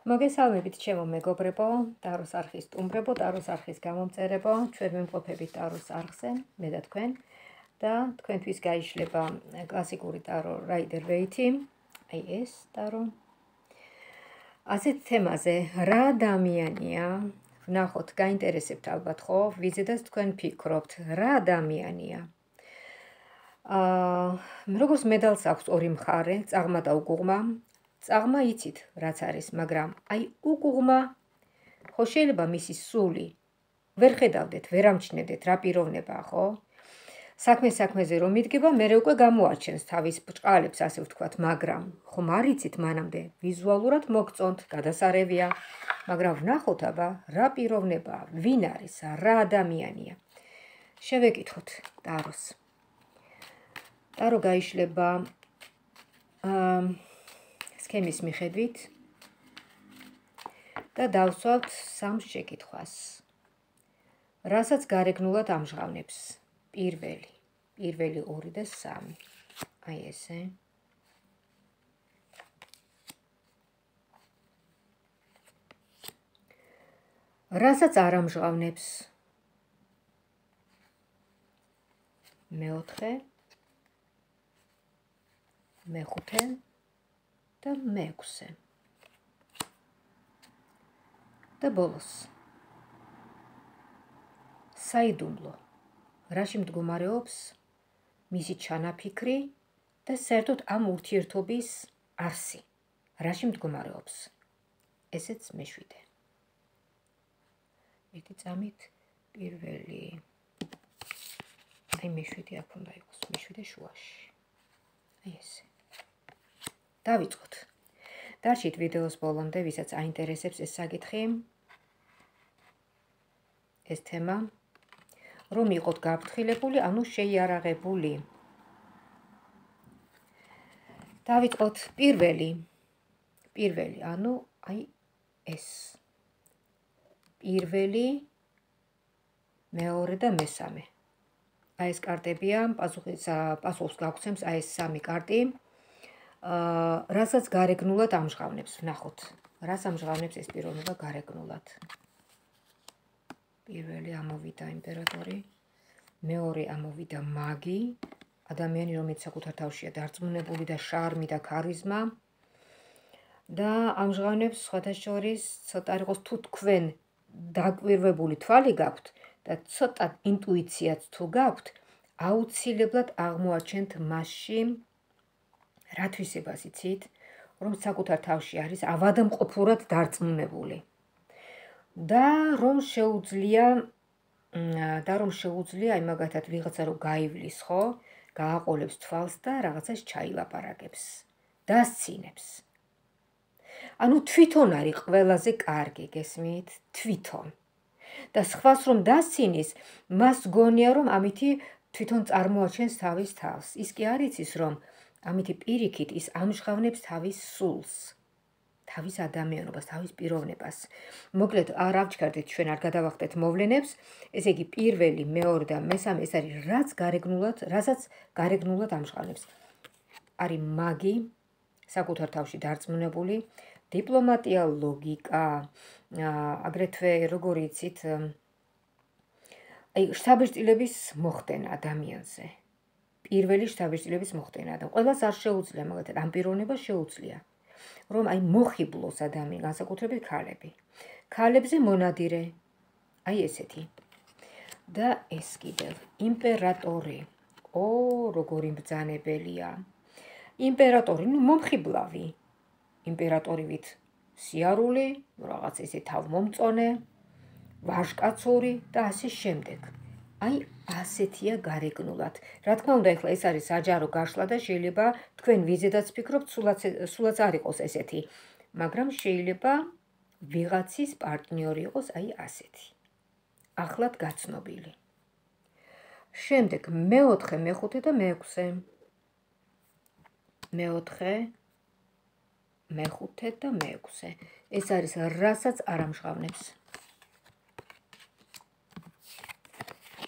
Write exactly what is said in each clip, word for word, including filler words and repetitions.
მოგესალმებით ჩემო მეგობრებო, ტაროს არხის სტუმრებო, ტაროს არხის გამომწერებო, ჩვენ ვიმყოფებით ტაროს არხზე, მე და თქვენ და თქვენთვის გაიშლება კლასიკური ტარო რაიდერ ვეითი, აი ეს ტარო. ასეთ თემაზე რა ადამიანია, ვნახოთ, გაინტერესებთ ალბათ ხო, ვიზედაც თქვენ ფიქრობთ, რა ადამიანია. აა, როგორც მედალს აქვს ორი მხარე, წაღმა და უგუღმა. წაღმა იცით, რაც არის, მაგრამ აი უგუღმა, ხო შეიძლება მისი სული ვერ ხედავდეთ, ვერ ამჩნევდეთ, რა პიროვნებაა, ხო? საქმე საქმეზე რომ იდგება, მერე უკვე გამოაჩენს თავის ბრჭყალებს, ასე ვთქვათ, მაგრამ ხომ არ იცით მანამდე, ვიზუალურად მოგწონთ, გადასარევია, მაგრამ ვნახოთ აბა, რა პიროვნებაა, ვინ არის, რა ადამიანია. შევეკითხოთ ტაროს. ტარო გაიშლება აა სქემის მიხედვით და დავსვავთ სამ შეკითხვას, რასაც გარეგნულად ამჟღავნებს. პირველი, პირველი ორი და სამი. აი ესე. რასაც არ ამჟღავნებს. მეოთხე, მეხუთე და მეექვსე. და ბოლოს. საიდუმლო. რაში მდგომარეობს მისი ჩანაფიქრი და საერთოდ ამ ურთიერთობის არსი. რაში მდგომარეობს. ესეც მეშვიდე. ერთი წამით პირველი. აი მეშვიდე აქ უნდა იყოს, მეშვიდე შუაში. აი ესე. დავიწყოთ. დარჩით ვიდეოს ბოლომდე, ვისაც აინტერესებს ეს საკითხი, ეს თემა, რომ იყოთ გაფრთხილებული, ანუ შეიარაღებული. დავიწყოთ პირველი. პირველი, ანუ აი ეს. პირველი, მეორე და მესამე. აი ეს კარტებია, პასუხს გაგცემს აი ეს სამი კარტი. აა, რასაც გარეგნულად ამჟღავნებს, ვნახოთ. რას ამჟღავნებს ეს პიროვნება გარეგნულად. პირველი ამოვიდა იმპერატორი, მეორე ამოვიდა მაგი, ადამიანი, რომელიც საკუთარ თავშია დარწმუნებული და შარმი და ქარიზმა და ამჟღავნებს სხვათა შორის ცოტა იყოს თუ თქვენ დაკვირვებული თვალი გაქვთ და ცოტა ინტუიციაც თუ გაქვთ, აუცილებლად აღმოაჩენთ მასში რა თვისებას იცით, რომ საკუთარ თავში არის ავადმყოფურად დარწმუნებული. და რომ შეუძლია და რომ შეუძლია აი მაგათად ვიღაცა რომ გაივლის, ხო? გააყოლებს თვალს და რაღაცას ჩაილაპარაკებს, დასცინებს. ანუ თვითონ არის ყველაზე კარგი, გესმით? თვითონ. და სხვას რომ დასცინის, მას გონია რომ ამითი თვითონ წარმოაჩენს თავის თავს. ის კი არ იცის რომ ამითი პირიქით ის ამჟღავნებს თავის სულს, თავის ადამიანობას, თავის პიროვნებას. მოკლედ, არ ავჩქარდით, ჩვენ არ გადავახტეთ მოვლენებს, ესე იგი პირველი, მეორე და მესამე ეს არის რაც გარეგნულად, რასაც გარეგნულად ამჟღავნებს. არის მაგი, საკუთარ თავში დარწმუნებული, დიპლომატია, ლოგიკა, აგრეთვე როგორ იცით, აი შთაბეჭდილების მოხდენა ადამიანზე. პირველი შთაბეჭდილების მოხდენა და ყველას არ შეუძლია, მაგალითად, ამ პიროვნებას შეუძლია, რომ აი მოხიბლოს ადამიანი, განსაკუთრებით ქალები. ქალებზე მონადირე, აი ესეთი. და ეს კიდევ იმპერატორი. ო, როგორი მბრძანებელია. იმპერატორი, ნუ მომხიბლავი. იმპერატორივით სიარული, რაღაც ესე თავმომწონე, ვაჟკაცური და ასე შემდეგ. აი ასეთია გარეგნულად. რა თქმა უნდა, ეხლა ეს არის საჯარო გაშლა და შეიძლება თქვენ ვიზედაც ფიქრობთ, სულაც არ იყოს ესეთი, მაგრამ შეიძლება ვიღაცის პარტნიორი იყოს აი ასეთი. ახლად გაცნობილი. შემდეგ მეოთხე, მეხუთე და მეექვსე. მეოთხე, მეხუთე და მეექვსე. ეს არის რასაც არ ამჟღავნებს.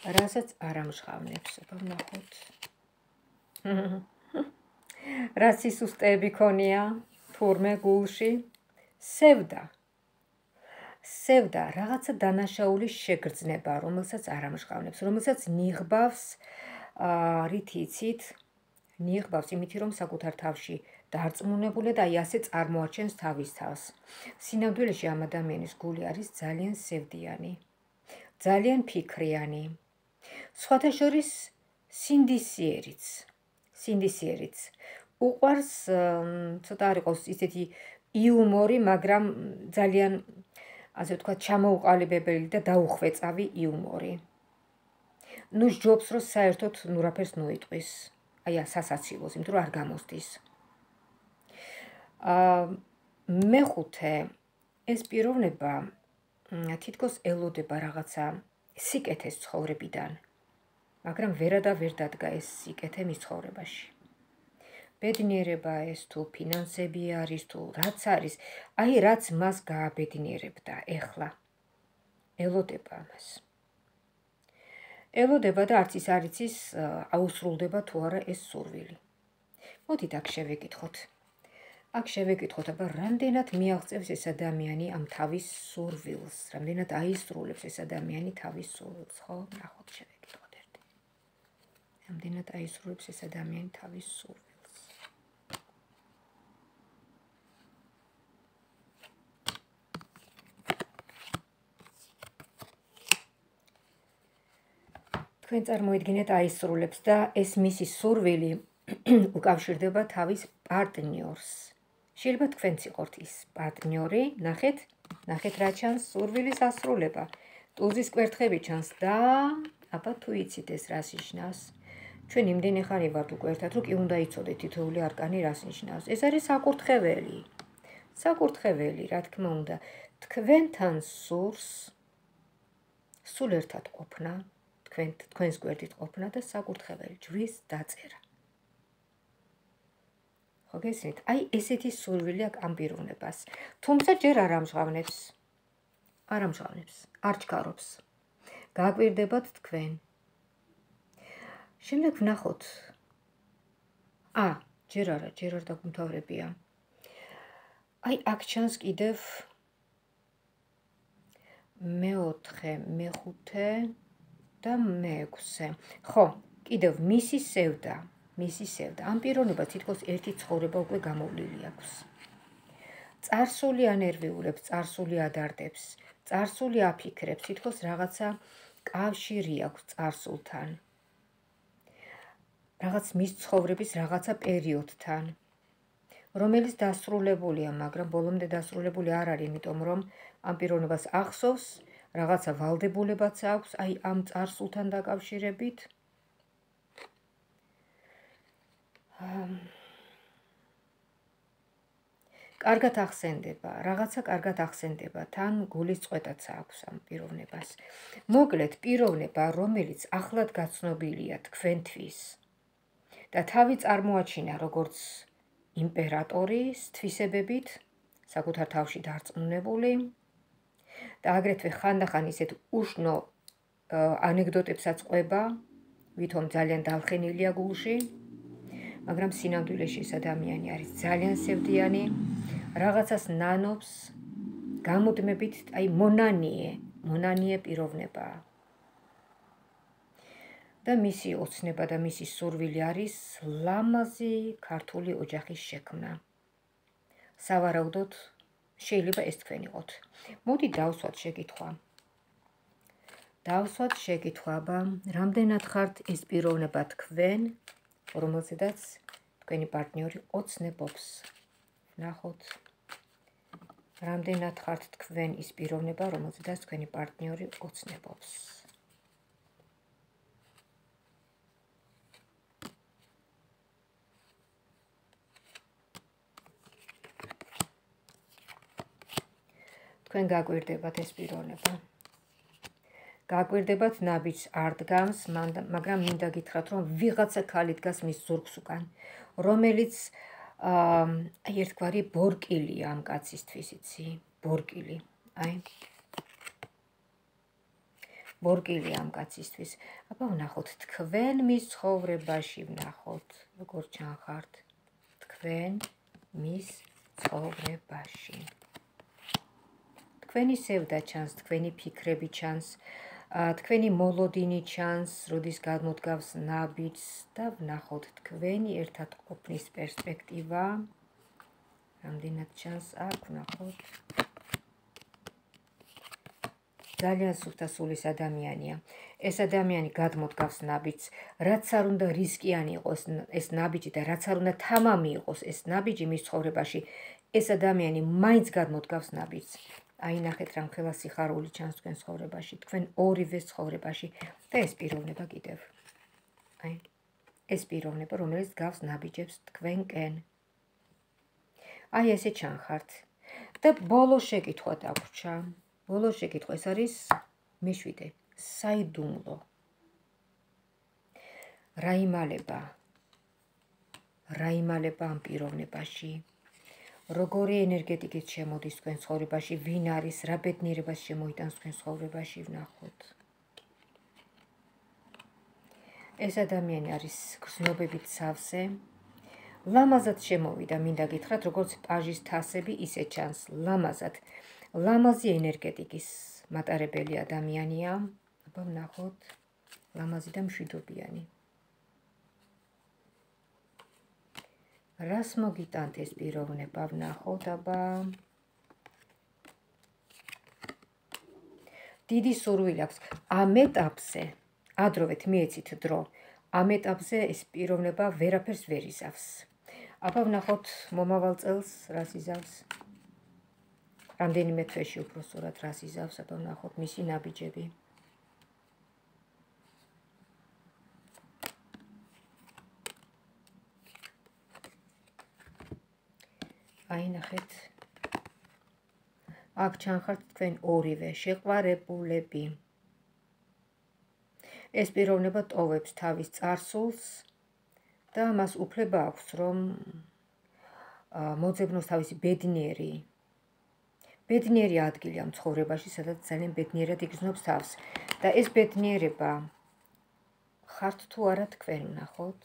რასაც არ ამჟღავნებს, აბა ვნახოთ. რა სისუსტეები ქონია თურმე გულში, სევდა. სევდა რაღაცა დანაშაულის შეგრძნება, რომელსაც არ ამჟღავნებს, რომელსაც ნიღბავს, რით იცით, ნიღბავს იმითი, რომ საკუთარ თავში დარწმუნებული და აი ასე წარმოაჩენს თავის თავს. სინამდვილეში ამ ადამიანის გული არის ძალიან სევდიანი, ძალიან ფიქრიანი. სხვათა შორის სინდისიერიც, სინდისიერიც. უყვარს ცოტა არ იყოს ისეთი იუმორი, მაგრამ ძალიან ასე ვთქვათ, ჩამოუყალიბებელი და დაუხვეწავი იუმორი. ნუ სჯობს, რომ საერთოდ ნუ რაფერს ნუიტყვის. აი სასაცილოს, იმიტომ რომ არ გამოსდის. მეხუთე, ეს პიროვნება თითქოს ელოდება რაღაცა სიკეთეს ცხოვრებიდან, მაგრამ ვერა და ვერ დადგა ეს სიკეთე მის ცხოვრებაში. ბედნიერება ეს თუ ფინანსები არის თუ რაც არის, აი რაც მას გააბედნიერებდა ეხლა. ელოდება ამას. ელოდება და არც ის არ იცის აუსრულდება თუ არა ეს სურვილი. მოდით აქ შევეკითხოთ. აქ შევეკითხოთ, აბა რამდენად მიაღწევს ეს ადამიანი ამ თავის სურვილს, რამდენად აისრულებს ეს ადამიანი თავის სურვილს, ხო? ნახოთ შევეკითხოთ ერთი. რამდენად აისრულებს ეს ადამიანი თავის სურვილს. თქვენ წარმოიდგინეთ აისრულებს და ეს მისი სურვილი უკავშირდება თავის პარტნიორს. შეიძლება თქვენც იყოთ ის პარტნიორი, ნახეთ, ნახეთ რა ჩანს სურვილის ასრულება. ტულზის კვერთხები ჩანს და აბა თუ იცით ეს რას ნიშნავს. ჩვენ იმდენი ხანი ვართ უკვე ერთად, რომ კი უნდა იცოდეთ თითოეული არკანი რას ნიშნავს. ეს არის საკურთხეველი. საკურთხეველი, რა თქმა უნდა, თქვენთან სურს სულ ერთად ყოფნა. თქვენს გვერდით ყოფნა და საკურთხეველი ჯვრის დაწერა. ხო გესმით? აი ესეთი სურვილი აქვს ამ პიროვნებას. თუმცა ჯერ არ ამჟღავნებს. არ ამჟღავნებს, არ ჩქარობს. გააკვირდებათ თქვენ. შემდეგ ვნახოთ. ა, ჯერ არა, ჯერ არ დაგუმთავრებია. აი აქ ჩანს კიდევ მეოთხე, მეხუთე და მეექვსე. ხო, კიდევ მისი სევდა, მისი სევდა. ამ პიროვნებას თითქოს ერთი ცხოვრება უკვე გამოვლილი აქვს. წარსული ანერვიულებს, წარსული ადარდებს, წარსული აფიქრებს, თითქოს რაღაცა კავშირი აქვს წარსულთან. რაღაც მის ცხოვრების რაღაცა პერიოდთან, რომელიც დასრულებულია, მაგრამ ბოლომდე დასრულებული არ არის, იმიტომ რომ ამ პიროვნებას ახსოვს რაღაცა ვალდებულებაც აქვს, აი ამ წარსულთან დაკავშირებით. კარგად ახსენდება, რაღაცა კარგად ახსენდება, თან გულის წყვეტაც აქვს ამ პიროვნებას. მოკლედ, პიროვნება, რომელიც ახლად გაცნობილია თქვენთვის და თავი წარმოაჩინა როგორც იმპერატორის თვისებებით, საკუთარ თავში დარწმუნებული და აგრეთვე ხანდახან ისეთ უშნო ანეკდოტებსაც ყვება, ვითომ ძალიან დავხენილია გულში, მაგრამ სინამდვილეში ეს ადამიანი არის ძალიან სევდიანი, რაღაცას ნანობს, გამუდმებით, აი მონანიე, მონანიე პიროვნებაა. და მისი ოცნება და მისი სურვილი არის ლამაზი ქართული ოჯახის შექმნა. სავარაუდოდ შეიძლება ეს თქვენ იყოთ. მოდი დავსვათ შეკითხვა. დავსვათ შეკითხვა, რამდენად ხართ ეს პიროვნება თქვენ, რომელზედაც თქვენი პარტნიორი ოცნებობს. ნახოთ. რამდენად ხართ თქვენ ის პიროვნება, რომელზედაც თქვენი პარტნიორი ოცნებობს. თქვენ გაგვირდებათ ეს პიროვნება. გაგვირდებათ ნაბიჯს არ დგამს, მაგრამ მინდა გითხრათ, რომ ვიღაცა ქალი დგას მის ზურგს უკან, რომელიც აი ერთგვარი ბორკილია ამ კაცისთვის, იცი? ბორკილი, აი. ბორკილი ამ კაცისთვის. აბა ვნახოთ, თქვენ მის ცხოვრებაში ვნახოთ, როგორ ჩანხართ თქვენ მის ცხოვრებაში. თქვენი სევდა ჩანს, თქვენი ფიქრები ჩანს, თქვენი მოლოდინი ჩანს, როდის გამოდგავს ნაბიჯს და ვნახოთ თქვენი ერთად ყოფნის პერსპექტივა. რამდენად ჩანს აქ, ვნახოთ. ძალიან სუფთასულის ადამიანია. ეს ადამიანი გადმოდგავს ნაბიჯს, რაც არ უნდა რისკიანი იყოს ეს ნაბიჯი და რაც არ უნდა თამამი იყოს ეს ნაბიჯი მის ცხოვრებაში, ეს ადამიანი მაინც გადმოდგავს ნაბიჯს. აი ნახეთ რამხელა სიხარული ჩანს თქვენ ცხოვრებაში, თქვენ ორივეს ცხოვრებაში და ეს პიროვნება კიდევ. აი, ეს პიროვნება, რომელიც გავს ნაბიჯებს თქვენკენ. აი ესე ჩანხართ. და ბოლო შეკითხვა დაგვრჩა. ბოლო შეკითხვა ეს არის მეშვიდე. საიდუმლო. რა იმალება? რა იმალება ამ პიროვნებაში? როგორი ენერგეტიკით შემოდის თქვენ ცხოვრებაში, ვინ არის, რა ბედნიერებას შემოიტანს თქვენ ცხოვრებაში, ვნახოთ. ეს ადამიანი არის გრძნობებით სავსე. ლამაზად შემოვიდა, მინდა გითხრათ, როგორც პაჟის თასები, ისე ჩანს, ლამაზად. ლამაზი ენერგეტიკის მატარებელი ადამიანია. აბა ვნახოთ, ლამაზი და მშვიდობიანი. რას მოგიტანთ ეს პიროვნება, ვნახოთ, აბა. დიდი სურვილი აქვს. ამ ეტაპზე, ადროვეთ მიეცით დრო, ამ ეტაპზე ეს პიროვნება ვერაფერს ვერ იზავს. აბა ვნახოთ მომავალ წელს რას იზავს. რამდენიმე თვეში უпроსტურად რას იზავს, აბა ვნახოთ მისი ნაბიჯები. აი ნახეთ. აქ ჩანხართ თქვენ ორივე შეყვარებულები. ეს პიროვნება ტოვებს თავის წარსულს და მას უფლება აქვს, რომ მოძებნოს თავისი ბედნიერი ბედნიერი ადგილი ამ ცხოვრებაში, სადაც ძალიან ბედნიერად იგრძნობს თავს. და ეს ბედნიერება ხართ თუ არა თქვენ, ვნახოთ.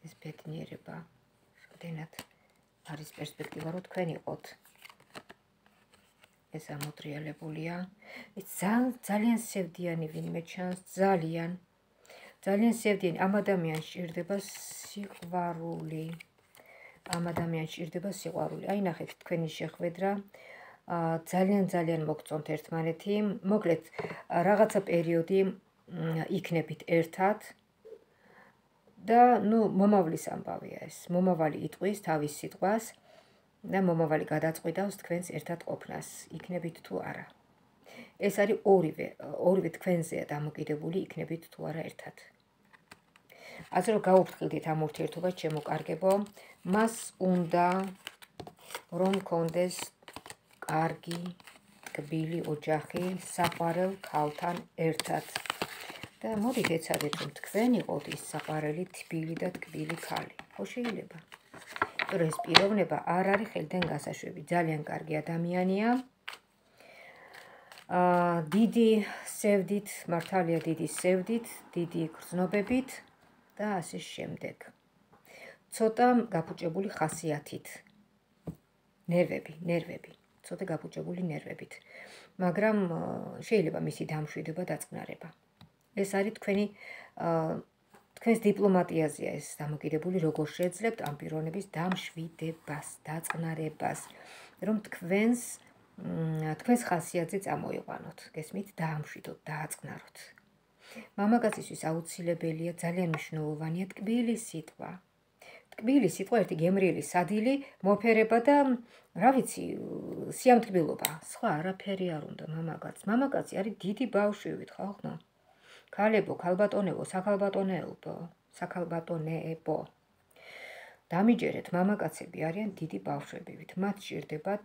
ეს ბედნიერება რამდენად არის პერსპექტივა, რომ თქვენ იყოთ. ეს ამოტრიალებულია. ეს ძალიან სევდიანი ვინმე ჩანს, ძალიან. ძალიან სევდიანი. ამ ადამიანს სჭირდება სიყვარული. ამ ადამიანს სჭირდება სიყვარული. აი ნახეთ თქვენი შეხვედრა. ძალიან ძალიან მოგწონთ ერთმანეთი. მოკლედ რაღაცა პერიოდი იქნებით ერთად. და ნუ მომავლის ამბავია ეს. მომავალი იტყვის თავის სიტყვას და მომავალი გადაწყვიტავს თქვენს ერთად ყოფნას. იქნებით თუ არა. ეს არის ორივე, ორივე თქვენზეა დამოკიდებული, იქნებით თუ არა ერთად. ასე რომ გაუფრთხილდით ამ ურთიერთობას, ჩემო კარგებო, მას უნდა რომ გქონდეს კარგი, ტკბილი ოჯახი საყვარელ ქალთან ერთად. და მოდით ეცადეთ, რომ თქვენ იყოთ ის საყვარელი, თბილი და ტკბილი ქალი. ხო შეიძლება? იმიტომ რომ ეს პიროვნება არ არის ხელიდან გასაშვები, ძალიან კარგი ადამიანია. დიდი სევდით, მართალია დიდი სევდით, დიდი გრძნობებით და ასე შემდეგ. ცოტა გაფუჭებული ხასიათით. ნერვები, ნერვები, ცოტა გაფუჭებული ნერვებით. მაგრამ შეიძლება მისი დამშვიდება დაწყნარება. ეს არის თქვენი თქვენს დიპლომატიაზეა ეს დამოკიდებული, როგორ შეძლებთ ამ პიროვნების დამშვიდებას, დაწყნარებას, რომ თქვენს თქვენს ხასიათზე წამოიყვანოთ, გესმით, დაამშვიდოთ, დააწყნაროთ. მამაკაცისთვის აუცილებელია, ძალიან მნიშვნელოვანია ტკბილი სიტყვა. ტკბილი სიტყვა, ერთი გემრიელი სადილი, მოფერება და რა ვიცი, სიამთკბილობა. სხვა არაფერი არ უნდა მამაკაცს. მამაკაცი არის დიდი ბავშვივით, ხალხო. ქალებო, ქალბატონებო, საქალბატონეებო, საქალბატონეებო. დამიჯერეთ, მამაკაცები არიან დიდი ბავშვებივით. მათ სჭირდებათ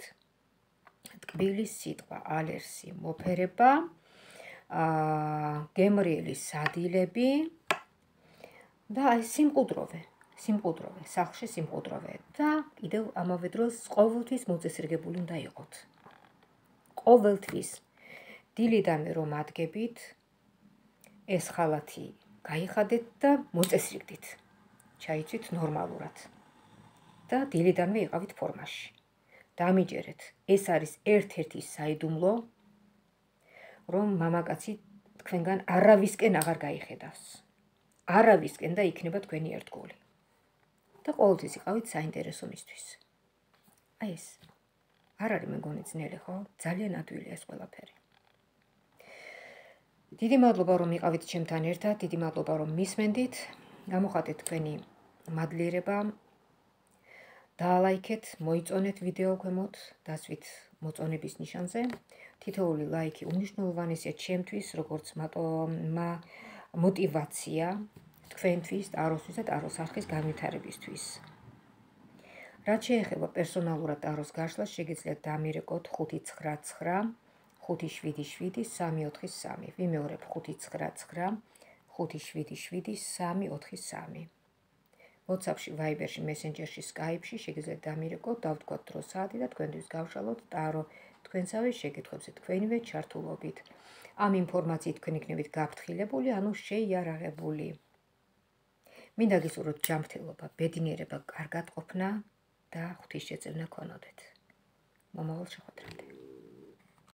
ტკბილი სიტყვა, ალერსი, მოფერება, გემრიელი სადილები და აი სიმყუდროვე, სიმყუდროვე, სახლში სიმყუდროვე და კიდევ ამავე დროს ყოველთვის მოწესრიგებული უნდა იყოთ. ყოველთვის დილიდანვე რომ ადგებით, ეს ხალათი გაიხადეთ და მოწესრიგდით. ჩაიცვით ნორმალურად. და დილიდანვე იყავით ფორმაში. დამიჯერეთ. ეს არის ერთ-ერთი საიდუმლო, რომ მამაკაცი თქვენგან არავისკენ აღარ გაიხედავს. არავისკენ და იქნება თქვენი ერთგული. და ყოველთვის იყავით საინტერესო მისთვის. აი ეს არ არის მეგონი ძნელი, ხო? ძალიან ადვილია ეს ყველაფერი. დიდი მადლობა რომ იყავით ჩემთან ერთად, დიდი მადლობა რომ მისმენდით. გამოხატეთ თქვენი მადლიერება. დაალაიქეთ, მოიწონეთ ვიდეო ქვემოთ, დასვით მოწონების ნიშანზე. თითოეული ლაიქი უმნიშვნელოვანესია ჩემთვის, როგორც მოტივაცია თქვენთვის, ტაროსთვის და ტაროს არხის განვითარებისთვის. რაც შეეხება პერსონალურად ტაროს გაშლას, შეგიძლიათ დამირეკოთ ხუთი ცხრა ცხრა ხუთი შვიდი შვიდი სამი ოთხი სამი. ვიმეორებ ხუთი ცხრა ცხრა ხუთი შვიდი შვიდი სამი ოთხი სამი. WhatsApp-ში, Viber-ში, Messenger-ში, Skype-ში შეგიძლიათ დამირეკოთ, დავთქვათ დრო საათი და თქვენთვის გავშალოთ ტარო თქვენსავე შეკითხვებზე თქვენივე ჩართულობით. ამ ინფორმაციით თქვენ იქნებით გაფრთხილებული, ანუ შეიარაღებული. მინდა გისურვოთ ჯანმრთელობა, ბედნიერება, კარგად ყოფნა და ღვთისშეწევნა ქონოდეთ. მომავალ შეხვედრამდე.